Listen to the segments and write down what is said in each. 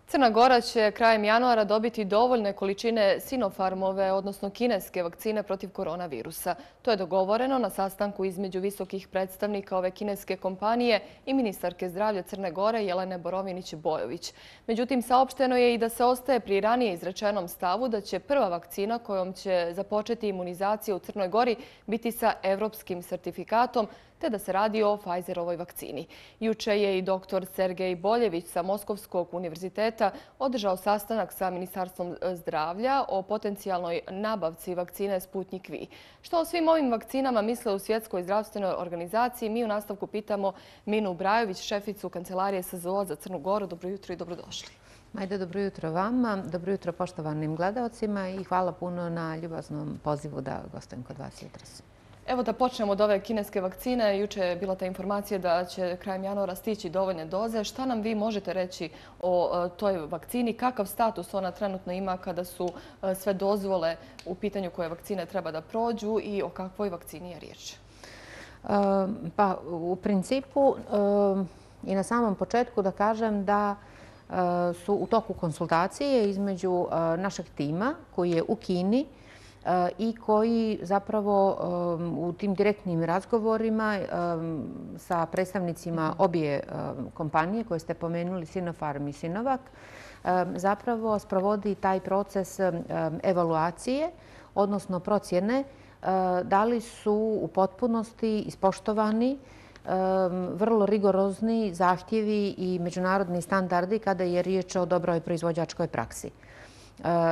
Crna Gora će krajem januara dobiti dovoljne količine Sinopharmove, odnosno kineske vakcine protiv koronavirusa. To je dogovoreno na sastanku između visokih predstavnika ove kineske kompanije i ministarke zdravlja Crne Gore Jelene Borovinić-Bojović. Međutim, saopšteno je i da se ostaje pri ranije izrečenom stavu da će prva vakcina kojom će započeti imunizacija u Crnoj Gori biti sa evropskim sertifikatom, te da se radi o Pfizerovoj vakcini. Juče je i dr. Sergej Boljević sa Moskovskog univerziteta održao sastanak sa Ministarstvom zdravlja o potencijalnoj nabavci vakcine Sputnik V. Što o svim ovim vakcinama misle u Svjetskoj zdravstvenoj organizaciji, mi u nastavku pitamo Minu Brajović, šeficu Kancelarije SZO za Crnu Goru. Dobro jutro i dobrodošli. Majde, dobro jutro vama, dobro jutro poštovanim gledalcima i hvala puno na ljubaznom pozivu da gostujem kod vas jutros. Evo da počnemo od ove kineske vakcine. Juče je bila ta informacija da će krajem januara stići dovoljne doze. Šta nam vi možete reći o toj vakcini? Kakav status ona trenutno ima kada su sve dozvole u pitanju koje vakcine treba da prođu i o kakvoj vakcini je riječ? Pa u principu i na samom početku da kažem da su u toku konsultacije između našeg tima koji je u Kini i koji zapravo u tim direktnim razgovorima sa predstavnicima obje kompanije koje ste pomenuli, Sinopharm i Sinovac, zapravo sprovodi taj proces evaluacije, odnosno procjene da li su u potpunosti ispoštovani vrlo rigorozni zahtjevi i međunarodni standardi kada je riječ o dobroj proizvođačkoj praksi.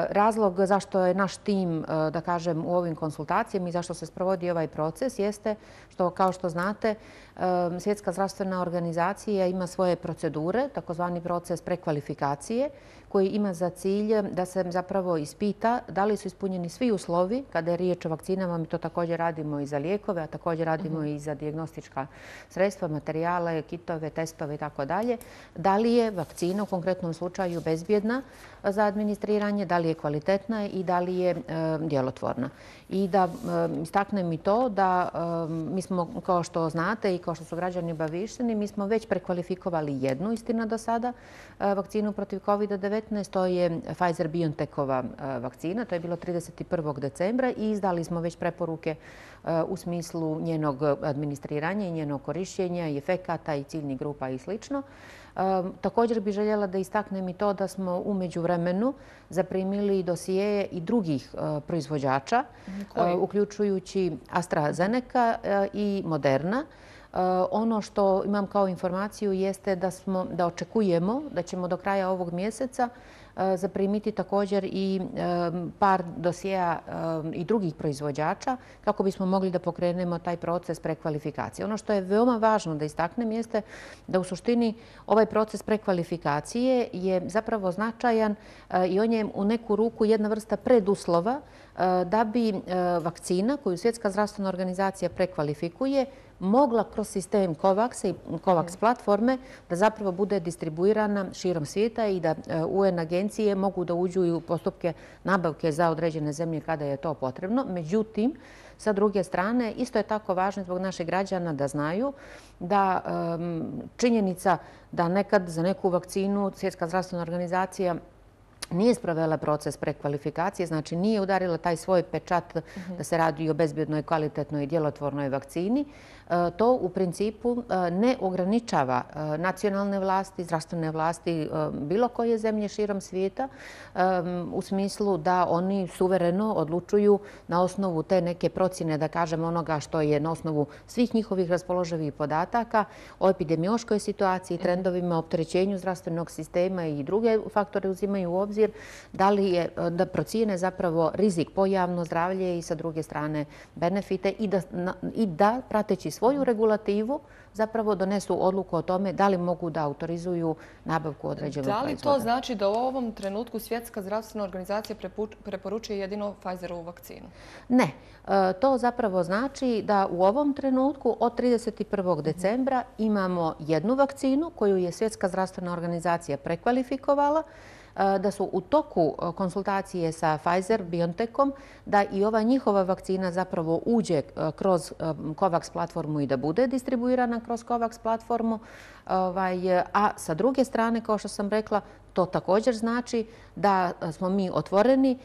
Razlog zašto je naš tim, da kažem, u ovim konsultacijama i zašto se sprovodi ovaj proces jeste što, kao što znate, Svjetska zdravstvena organizacija ima svoje procedure, takozvani proces prekvalifikacije, koji ima za cilj da se zapravo ispita da li su ispunjeni svi uslovi kada je riječ o vakcinama. Mi to također radimo i za lijekove, a također radimo i za dijagnostička sredstva, materijale, kitove, testove i tako dalje. Da li je vakcina u konkretnom slučaju bezbjedna za administriranje, da li je kvalitetna i da li je djelotvorna. I da istaknem i to da mi smo, kao što znate i kao što su građani obaviješteni, mi smo već prekvalifikovali jednu, istina do sada, vakcinu protiv COVID-19. To je Pfizer-BioNTechova vakcina. To je bilo 31. decembra i izdali smo već preporuke u smislu njenog administriranja i njenog korišćenja i efekata i ciljnih grupa i sl. Također bih željela da istaknem i to da smo u međuvremenu zaprimili dosijeje i drugih proizvođača, uključujući AstraZeneca i Moderna. Ono što imam kao informaciju jeste da očekujemo da ćemo do kraja ovog mjeseca zaprimiti također i par dosijeja i drugih proizvođača kako bismo mogli da pokrenemo taj proces prekvalifikacije. Ono što je veoma važno da istaknem jeste da u suštini ovaj proces prekvalifikacije je zapravo značajan i on je u neku ruku jedna vrsta preduslova da bi vakcina koju Svjetska zdravstvena organizacija prekvalifikuje mogla kroz sistem COVAX i COVAX platforme da zapravo bude distribuirana širom svijeta i da UN agencije mogu da uđu i u postupke nabavke za određene zemlje kada je to potrebno. Međutim, sa druge strane, isto je tako važno zbog naših građana da znaju da činjenica da nekad za neku vakcinu Svjetska zdravstvena organizacija nije sprovela proces prekvalifikacije, znači nije udarila taj svoj pečat da se radi o bezbjednoj, kvalitetnoj i djelotvornoj vakcini. To u principu ne ograničava nacionalne vlasti, zdravstvene vlasti bilo koje zemlje širom svijeta u smislu da oni suvereno odlučuju na osnovu te neke procjene, da kažem, onoga što je na osnovu svih njihovih raspoloživih podataka o epidemiološkoj situaciji, trendovima, opterećenju zdravstvenog sistema i druge faktore uzimaju u obzir, da procijene zapravo rizik po javno zdravlje i sa druge strane benefite i da prateći svoju regulativu zapravo donesu odluku o tome da li mogu da autorizuju nabavku određenog proizvoda. Da li to znači da u ovom trenutku Svjetska zdravstvena organizacija preporučuje jedino Pfizerovu vakcinu? Ne. To zapravo znači da u ovom trenutku od 31. decembra imamo jednu vakcinu koju je Svjetska zdravstvena organizacija prekvalifikovala, da su u toku konsultacije sa Pfizer-BioNTechom da i ova njihova vakcina zapravo uđe kroz COVAX platformu i da bude distribuirana kroz COVAX platformu. A sa druge strane, kao što sam rekla, to također znači da smo mi otvoreni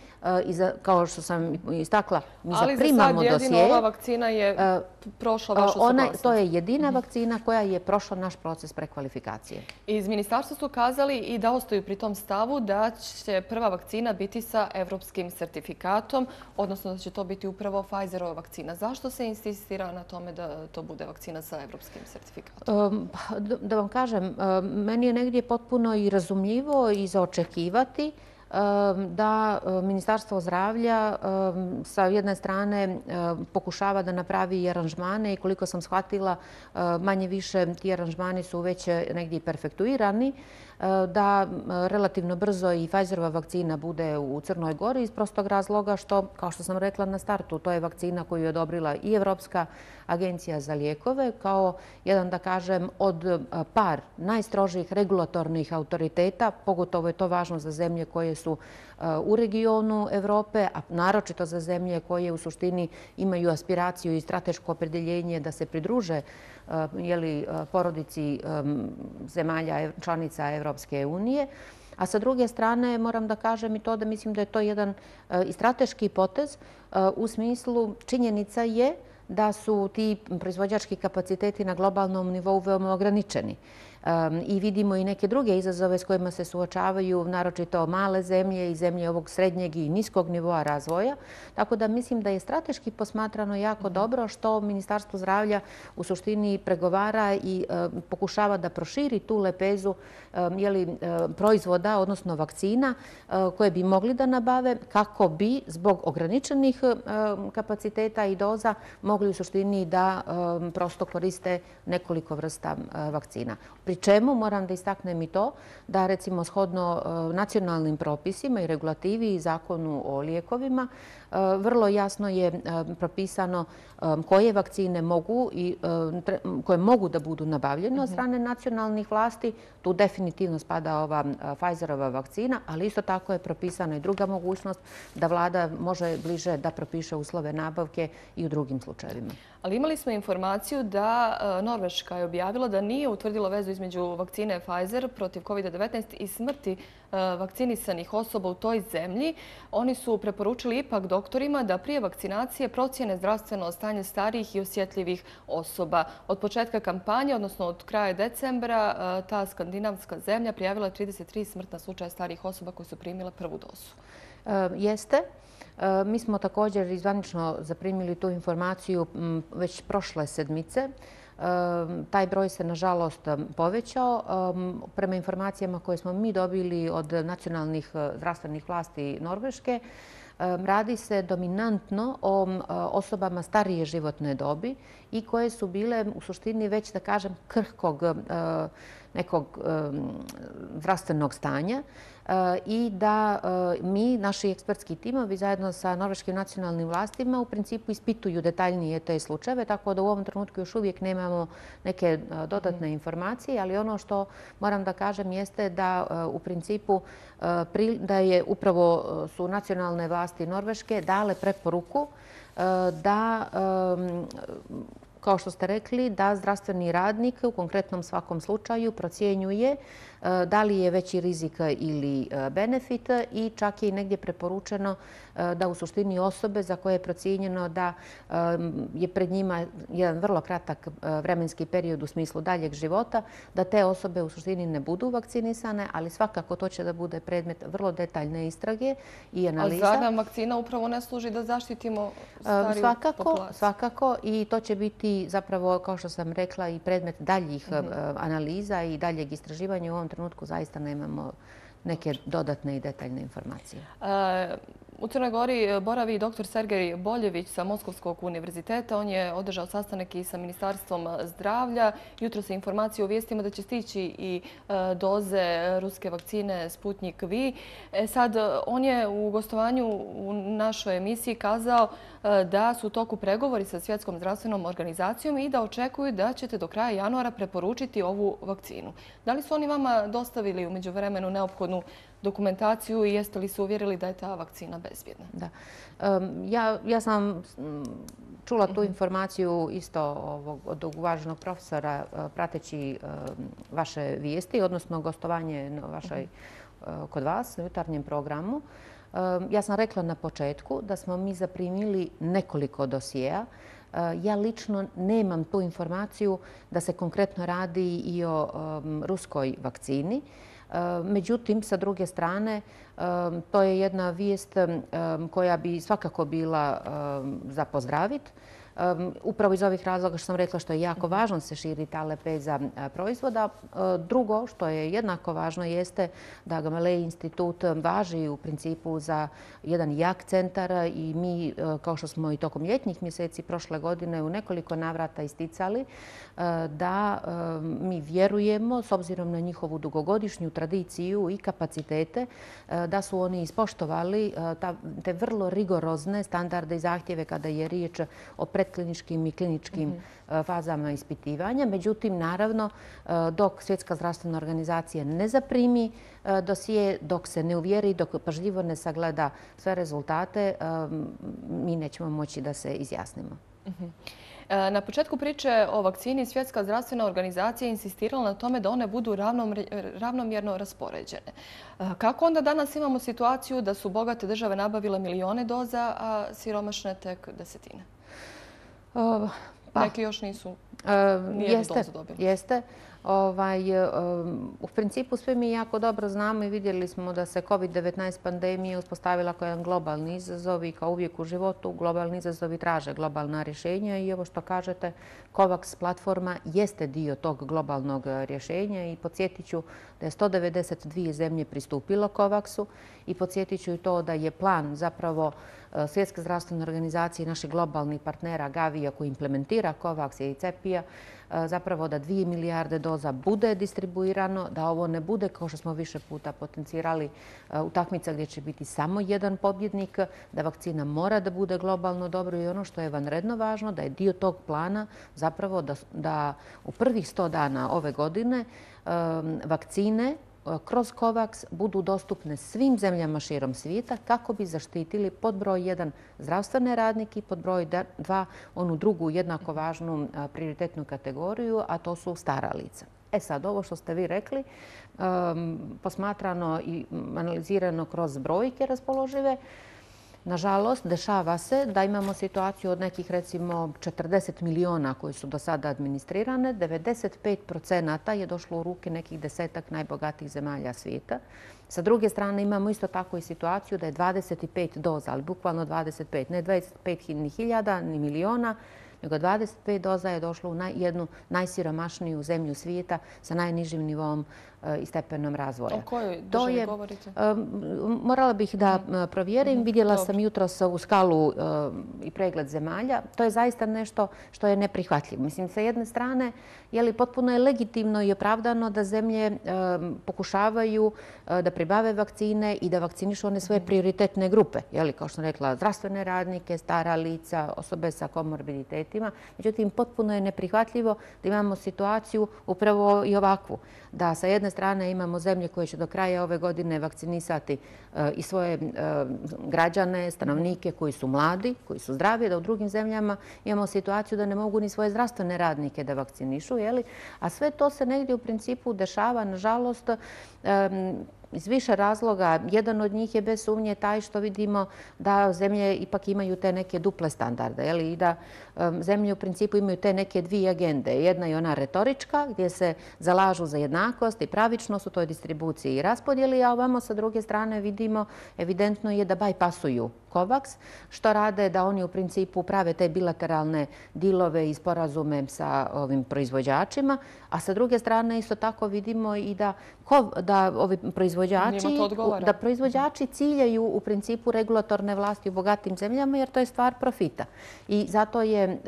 i kao što sam istakla, mi zaprimamo dosije. Ali za sad jedino ova vakcina je prošla vašu suglasnost. To je jedina vakcina koja je prošla naš proces prekvalifikacije. Iz ministarstva su kazali i da ostaju pri tom stavu da će prva vakcina biti sa evropskim sertifikatom, odnosno da će to biti upravo Pfizerova vakcina. Zašto se insistira na tome da to bude vakcina sa evropskim sertifikatom? Da vam kažem, meni je negdje potpuno i razumljivo i za očekivati da Ministarstvo zdravlja sa jedne strane pokušava da napravi aranžmane i koliko sam shvatila, manje više ti aranžmani su već negdje perfektuirani, da relativno brzo i Pfizerova vakcina bude u Crnoj Gori iz prostog razloga što, kao što sam rekla na startu, to je vakcina koju je odobrila i Evropska agencija za lijekove kao jedan, da kažem, od par najstrožih regulatornih autoriteta. Pogotovo je to važno za zemlje koje su u regionu Evrope, a naročito za zemlje koje u suštini imaju aspiraciju i strateško opredjeljenje da se pridruže porodici zemalja članica Evropske unije. A sa druge strane moram da kažem i to da mislim da je to jedan i strateški potez u smislu činjenica je da su ti proizvođački kapaciteti na globalnom nivou veoma ograničeni. I vidimo i neke druge izazove s kojima se suočavaju, naročito male zemlje i zemlje ovog srednjeg i niskog nivoa razvoja. Tako da mislim da je strateški posmatrano jako dobro što Ministarstvo zdravlja u suštini pregovara i pokušava da proširi tu lepezu proizvoda, odnosno vakcina koje bi mogli da nabave kako bi zbog ograničenih kapaciteta i doza mogli u suštini da prosto koriste nekoliko vrsta vakcina. Pri čemu moram da istaknem i to da recimo shodno nacionalnim propisima i regulativi i zakonu o lijekovima vrlo jasno je propisano koje vakcine koje mogu da budu nabavljene od strane nacionalnih vlasti. Tu definitivno spada ova Pfizerova vakcina, ali isto tako je propisana i druga mogućnost da vlada može bliže da propiše uslove nabavke i u drugim slučajevima. Ali imali smo informaciju da Norveška je objavila da nije utvrdila vezu između vakcine Pfizer protiv COVID-19 i smrti vakcinisanih osoba u toj zemlji. Oni su preporučili ipak doktorima da prije vakcinacije procjene zdravstveno stanje starijih i osjetljivih osoba. Od početka kampanje, odnosno od kraja decembra, ta skandinavska zemlja prijavila 33 smrtna slučaja starijih osoba koji su primile prvu dozu. Jeste. Mi smo također izvanično zaprimili tu informaciju već prošle sedmice. Taj broj se, nažalost, povećao. Prema informacijama koje smo mi dobili od nacionalnih zdravstvenih vlasti Norveške, radi se dominantno o osobama starije životne dobi i koje su bile u suštini već, da kažem, krhkog nekog zdravstvenog stanja i da mi, naši ekspertski timovi, zajedno sa norveškim nacionalnim vlastima u principu ispituju detaljnije te slučajeve, tako da u ovom trenutku još uvijek nemamo neke dodatne informacije, ali ono što moram da kažem jeste da u principu da je upravo su nacionalne vlasti Norveške dale preporuku da kao što ste rekli, da zdravstveni radnik u konkretnom svakom slučaju procjenjuje da li je veći rizik ili benefit i čak je i negdje preporučeno da u suštini osobe za koje je procijenjeno da je pred njima jedan vrlo kratak vremenski period u smislu daljeg života, da te osobe u suštini ne budu vakcinisane, ali svakako to će da bude predmet vrlo detaljne istrage i analiza. A zar nam vakcina upravo ne služi da zaštitimo stariju populaciju? Svakako i to će biti zapravo, kao što sam rekla, i predmet daljih analiza i daljeg istraživanja. U ovom trenutku zaista nemamo neke dodatne i detaljne informacije. U Crnoj Gori boravi dr. Sergej Boljević sa Moskovskog univerziteta. On je održao sastanak i sa Ministarstvom zdravlja. Jutro se informacije u vijestima da će stići i doze ruske vakcine Sputnik V. Sad, on je u gostovanju u našoj emisiji kazao da su u toku pregovori sa Svjetskom zdravstvenom organizacijom i da očekuju da ćete do kraja januara preporučiti ovu vakcinu. Da li su oni vama dostavili u međuvremenu neophodnu neophodnu dokumentaciju i jeste li se uvjerili da je ta vakcina bezbjedna? Da. Ja sam čula tu informaciju isto od uvaženog profesora prateći vaše vijesti, odnosno gostovanje kod vas u jutarnjem programu. Ja sam rekla na početku da smo mi zaprimili nekoliko dosijeja. Ja lično nemam tu informaciju da se konkretno radi i o ruskoj vakcini. Međutim, sa druge strane, to je jedna vijest koja bi svakako bila za pozdraviti. Upravo iz ovih razloga što sam rekla što je jako važno se širi ta lepeza proizvoda. Drugo što je jednako važno jeste da Gamaleji institut važi u principu za jedan jak centar i mi, kao što smo i tokom ljetnih mjeseci prošle godine u nekoliko navrata isticali, da mi vjerujemo, s obzirom na njihovu dugogodišnju tradiciju i kapacitete, da su oni ispoštovali te vrlo rigorozne standarde i zahtjeve kada je riječ o predkliničkim i kliničkim fazama ispitivanja. Međutim, naravno, dok Svjetska zdravstvena organizacija ne zaprimi dosije, dok se ne uvjeri, dok pažljivo ne sagleda sve rezultate, mi nećemo moći da se izjasnimo. Na početku priče o vakcini Svjetska zdravstvena organizacija insistirala na tome da one budu ravnomjerno raspoređene. Kako onda danas imamo situaciju da su bogate države nabavile milijone doza, a siromašne tek desetine? Neki još nisu nijednu dozu dobili. Jeste. U principu svi mi jako dobro znamo i vidjeli smo da se COVID-19 pandemija uspostavila kao jedan globalni izazov i kao uvijek u životu globalni izazovi traže globalna rješenja i ovo što kažete, COVAX platforma jeste dio tog globalnog rješenja i podsjetit ću da je 192 zemlje pristupilo COVAX-u i podsjetit ću i to da je plan zapravo Svjetske zdravstvene organizacije i naših globalnih partnera Gavija koji implementira COVAX i CEPI-a zapravo da 2 milijarde doza bude distribuirano, da ovo ne bude, kao što smo više puta potencirali, utakmica gdje će biti samo jedan pobjednik, da vakcina mora da bude globalno dobro i ono što je vanredno važno, da je dio tog plana zapravo da u prvih 100 dana ove godine vakcine kroz COVAX budu dostupne svim zemljama širom svijeta kako bi zaštitili pod broj 1 zdravstvene radnike i pod broj 2 onu drugu jednako važnu prioritetnu kategoriju, a to su stara lica. Sad, ovo što ste vi rekli, posmatrano i analizirano kroz brojke raspoložive, nažalost, dešava se da imamo situaciju od nekih, recimo, 40 miliona koji su do sada administrirane. 95% je došlo u ruke nekih 10-ak najbogatijih zemalja svijeta. Sa druge strane imamo isto tako i situaciju da je 25 doza, ali bukvalno 25, ne 25.000 ni miliona, nego 25 doza je došlo u jednu najsiromašniju zemlju svijeta sa najnižim nivom i stepenom razvoja. O kojoj državi govorite? Morala bih da provjerim. Vidjela sam jutros u skalu i pregled zemalja. To je zaista nešto što je neprihvatljivo. Mislim, sa jedne strane, potpuno je legitimno i opravdano da zemlje pokušavaju da pribave vakcine i da vakcinišu one svoje prioritetne grupe. Kao što sam rekla, zdravstvene radnike, stara lica, osobe sa komorbiditetima. Međutim, potpuno je neprihvatljivo da imamo situaciju upravo i ovakvu. Da sa jedne strane imamo zemlje koje će do kraja ove godine vakcinisati i svoje građane, stanovnike koji su mladi, koji su zdravi, da u drugim zemljama imamo situaciju da ne mogu ni svoje zdravstvene radnike da vakcinišu. A sve to se negdje u principu dešava, nažalost, iz više razloga. Jedan od njih je bez sumnje taj što vidimo da zemlje ipak imaju te neke duple standarde i da zemlje u principu imaju te neke dvije agende. Jedna je ona retorička gdje se zalažu za jednakost i pravičnost u toj distribuciji i raspodjeli, a ovamo sa druge strane vidimo evidentno je da bajpasuju COVAX, što rade da oni u principu prave te bilateralne dilove i sporazume sa ovim proizvođačima, a sa druge strane isto tako vidimo i da ovi proizvođači ciljaju u principu regulatorne vlasti u bogatim zemljama jer to je stvar profita. I zato je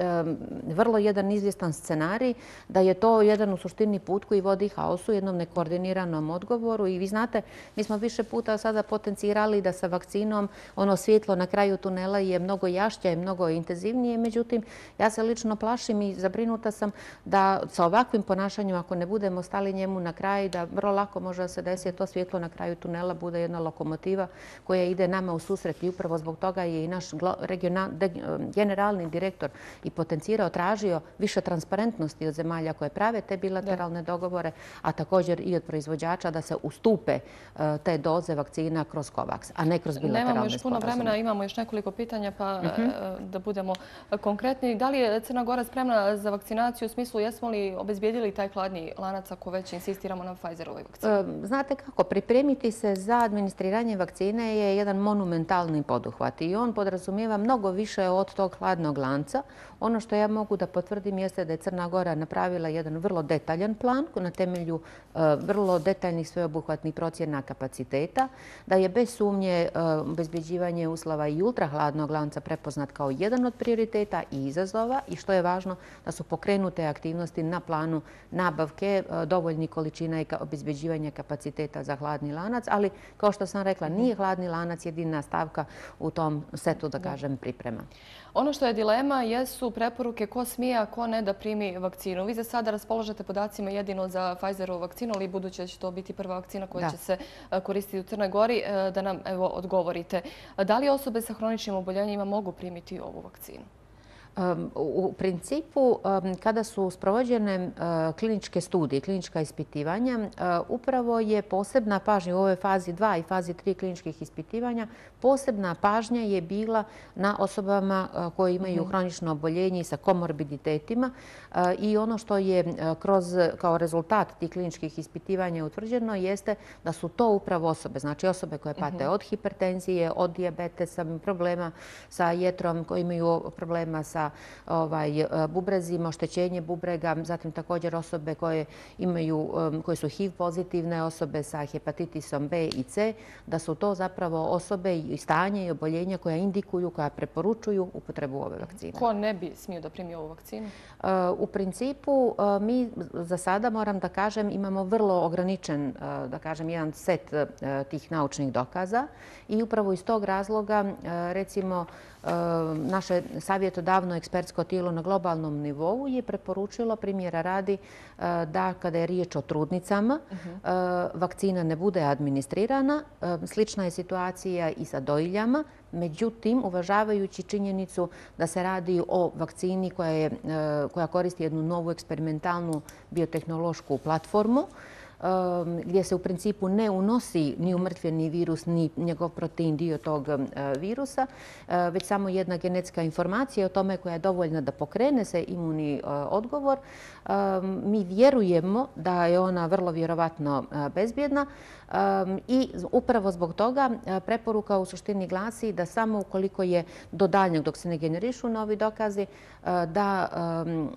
vrlo jedan izvjestan scenarij da je to jedan u suštini put koji vodi haosu, jednom nekoordiniranom odgovoru. I vi znate, mi smo više puta sada potencirali da sa vakcinom ono svjetlo svjetlo na kraju tunela je mnogo jašće i mnogo intenzivnije. Međutim, ja se lično plašim i zabrinuta sam da sa ovakvim ponašanjem, ako ne budemo stali njemu na kraj, da vrlo lako može da se desi to svjetlo na kraju tunela bude jedna lokomotiva koja ide nama u susret i upravo zbog toga je i naš generalni direktor i potencirao, tražio više transparentnosti od zemalja koje prave te bilateralne dogovore, a također i od proizvođača da se ustupe te doze vakcina kroz COVAX, a ne kroz bilateralne sporazume. Nemamo još puno vremena, imamo još nekoliko pitanja, pa da budemo konkretni. Da li je Crna Gora spremna za vakcinaciju u smislu jesmo li obezbijedili taj hladni lanac ako već insistiramo na Pfizerovoj vakcini? Znate kako, pripremiti se za administriranje vakcine je jedan monumentalni poduhvat i on podrazumijeva mnogo više od tog hladnog lanca. Ono što ja mogu da potvrdim jeste da je Crna Gora napravila jedan vrlo detaljan plan na temelju vrlo detaljnih sveobuhvatnih procjena kapaciteta, da je bez sumnje obezbeđivanje uslova i ultrahladnog lanca prepoznat kao jedan od prioriteta i izazova i što je važno da su pokrenute aktivnosti na planu nabavke dovoljnih količina i obezbeđivanja kapaciteta za hladni lanac, ali kao što sam rekla, nije hladni lanac jedina stavka u tom setu, da kažem, priprema. Ono što je dilema jesu preporuke ko smije, a ko ne da primi vakcinu. Vi za sada raspolažete podacima jedino za Pfizerovu vakcinu, ali budući da će to biti prva vakcina koja će se koristiti u Crnoj Gori, da nam odgovorite. Da li osobe sa hroničnim oboljenjima mogu primiti ovu vakcinu? U principu, kada su sprovođene kliničke studije, klinička ispitivanja, upravo je posebna pažnja u ovoj fazi 2 i fazi 3 kliničkih ispitivanja, posebna pažnja je bila na osobama koje imaju hronično oboljenje i sa komorbiditetima i ono što je kao rezultat tih kliničkih ispitivanja utvrđeno jeste da su to upravo osobe, znači osobe koje pate od hipertenzije, od dijabetesa, problema sa jetrom, koji imaju problema sa bubrezima, oštećenje bubrega, zatim također osobe koje su HIV pozitivne, osobe sa hepatitisom B i C, da su to zapravo osobe i stanje i oboljenja koja indikuju, koja preporučuju upotrebu ove vakcine. Ko ne bi smio da primi ovu vakcinu? U principu mi za sada, moram da kažem, imamo vrlo ograničen, da kažem, jedan set tih naučnih dokaza i upravo iz tog razloga, recimo, naše savjetodavno ekspertsko tijelo na globalnom nivou je preporučilo, primjera radi, da kada je riječ o trudnicama, vakcina ne bude administrirana. Slična je situacija i sa dojiljama. Međutim, uvažavajući činjenicu da se radi o vakcini koja koristi jednu novu eksperimentalnu biotehnološku platformu, gdje se u principu ne unosi ni umrtvljeni virus, ni njegov protein dio tog virusa, već samo jedna genetska informacija o tome koja je dovoljna da pokrene se imunni odgovor. Mi vjerujemo da je ona vrlo vjerovatno bezbjedna i upravo zbog toga preporuka u suštini glasi da samo ukoliko je do daljnjeg, dok se ne generišu novi dokazi, da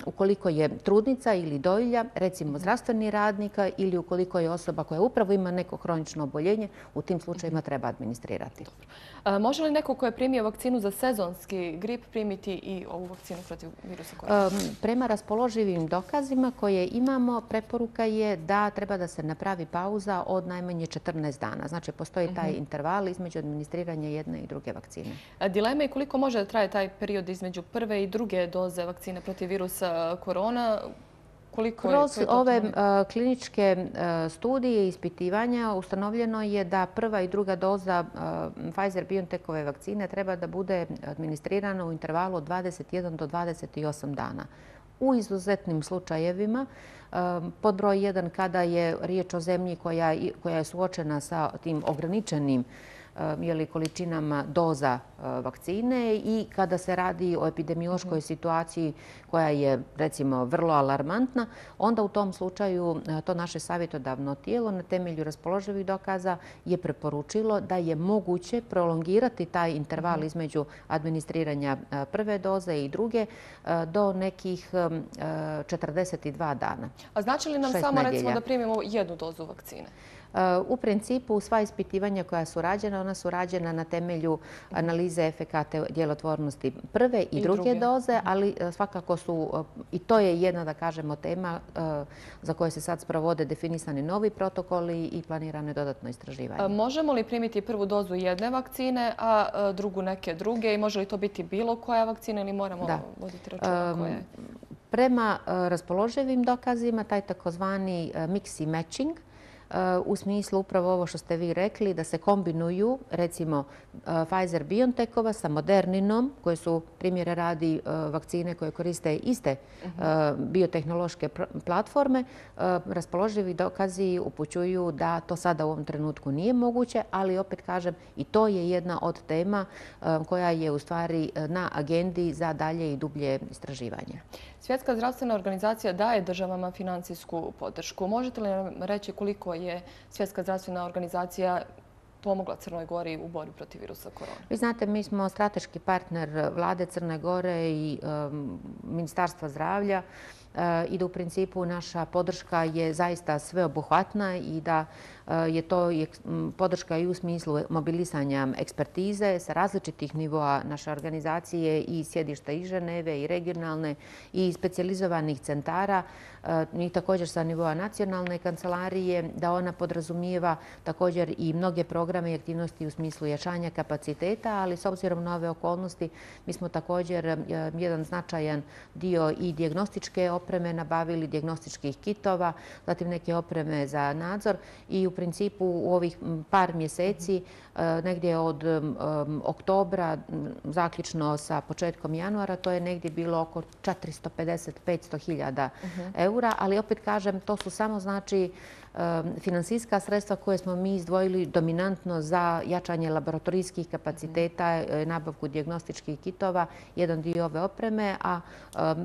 ukoliko je trudnica ili dojilja, recimo zdravstveni radnika ili ukoliko je osoba koja upravo ima neko hronično oboljenje, u tim slučajima treba administrirati. Može li neko ko je primio vakcinu za sezonski grip primiti i ovu vakcinu protiv virusa korona? Prema raspoloživim dokazima koje imamo, preporuka je da treba da se napravi pauza od najmanje 14 dana. Znači, postoji taj interval između administriranja jedne i druge vakcine. Dilema je koliko može da traje taj period između prve i druge doze vakcine protiv virusa korona? Kroz ove kliničke studije i ispitivanja ustanovljeno je da prva i druga doza Pfizer-BioNTechove vakcine treba da bude administrirana u intervalu od 21 do 28 dana. U izuzetnim slučajevima, pod broj 1 kada je riječ o zemlji koja je suočena sa tim ograničenim količinama doza vakcine i kada se radi o epidemiološkoj situaciji koja je, recimo, vrlo alarmantna, onda u tom slučaju to naše savjetodavno tijelo na temelju raspoloživih dokaza je preporučilo da je moguće prolongirati taj interval između administriranja prve doze i druge do nekih 42 dana. A znači li nam samo, recimo, da primimo jednu dozu vakcine? U principu sva ispitivanja koja su rađena, ona su rađena na temelju analize efekata djelotvornosti prve i druge doze, ali svakako su, i to je jedna, da kažemo, tema za koje se sad sprovode definisani novi protokoli i planirano je dodatno istraživanje. Možemo li primiti prvu dozu jedne vakcine, a drugu neke druge i može li to biti bilo koja vakcina ili moramo voditi računa koje? Prema raspoloživim dokazima, taj takozvani mix i matching, u smislu upravo ovo što ste vi rekli, da se kombinuju recimo Pfizer-BioNTechova sa Moderninom, koje su primjere radi vakcine koje koriste iste biotehnološke platforme. Raspoloživi dokazi upućuju da to sada u ovom trenutku nije moguće, ali opet kažem i to je jedna od tema koja je u stvari na agendi za dalje i dublje istraživanje. Svjetska zdravstvena organizacija daje državama financijsku podršku. Možete li nam reći koliko je Svjetska zdravstvena organizacija pomogla Crnoj Gori u borbi protiv virusa korona? Vi znate, mi smo strateški partner vlade Crne Gore i Ministarstva zdravlja i da u principu naša podrška je zaista sveobuhvatna i da je to podrška i u smislu mobilisanja ekspertize sa različitih nivoa naše organizacije i sjedišta i Ženeve i regionalne i specijalizovanih centara i također sa nivoa nacionalne kancelarije, da ona podrazumijeva također i mnoge programe i aktivnosti u smislu jačanja kapaciteta, ali s obzirom na ove okolnosti mi smo također jedan značajan dio i dijagnostičke opreme nabavili, dijagnostičkih kitova, zatim neke opreme za nadzor i u principu u ovih par mjeseci, negdje od oktobra, zaključno sa početkom januara, to je negdje bilo oko 450-500 hiljada eura, ali opet kažem, to su samo znači finansijska sredstva koje smo mi izdvojili dominantno za jačanje laboratorijskih kapaciteta, nabavku dijagnostičkih kitova, jedan dio ove opreme, a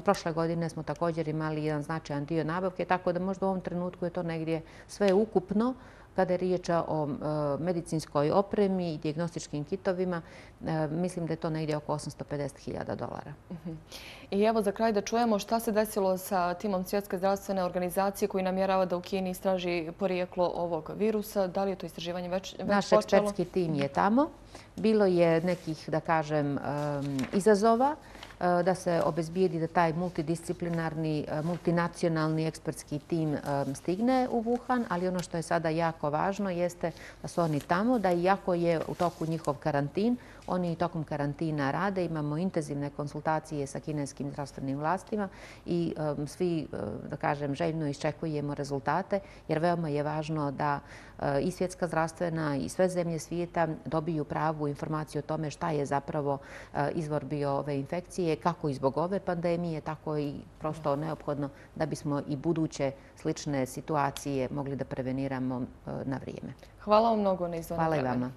prošle godine smo također imali jedan značajan dio nabavke, tako da možda u ovom trenutku je to negdje sve ukupno. Kada je riječ o medicinskoj opremi i dijagnostičkim kitovima, mislim da je to negdje oko $850.000. I evo za kraj da čujemo šta se desilo sa timom Svjetske zdravstvene organizacije koji namjerava da u Kini istraži porijeklo ovog virusa. Da li je to istraživanje već počelo? Naš ekspertski tim je tamo. Bilo je nekih, da kažem, izazova da se obezbijedi da taj multidisciplinarni, multinacionalni ekspertski tim stigne u Wuhan, ali ono što je sada jako važno jeste da su oni tamo, da iako je u toku njihov karantin, oni i tokom karantina rade. Imamo intenzivne konsultacije sa kineskim zdravstvenim vlastima i svi, da kažem, željno iščekujemo rezultate, jer veoma je važno da i Svjetska zdravstvena i sve zemlje svijeta dobiju pravu informaciju o tome šta je zapravo izvor bio ove infekcije, kako i zbog ove pandemije, tako i prosto neophodno da bismo i buduće slične situacije mogli da preveniramo na vrijeme. Hvala vam mnogo na izdvojenom vremenu. Hvala i vama.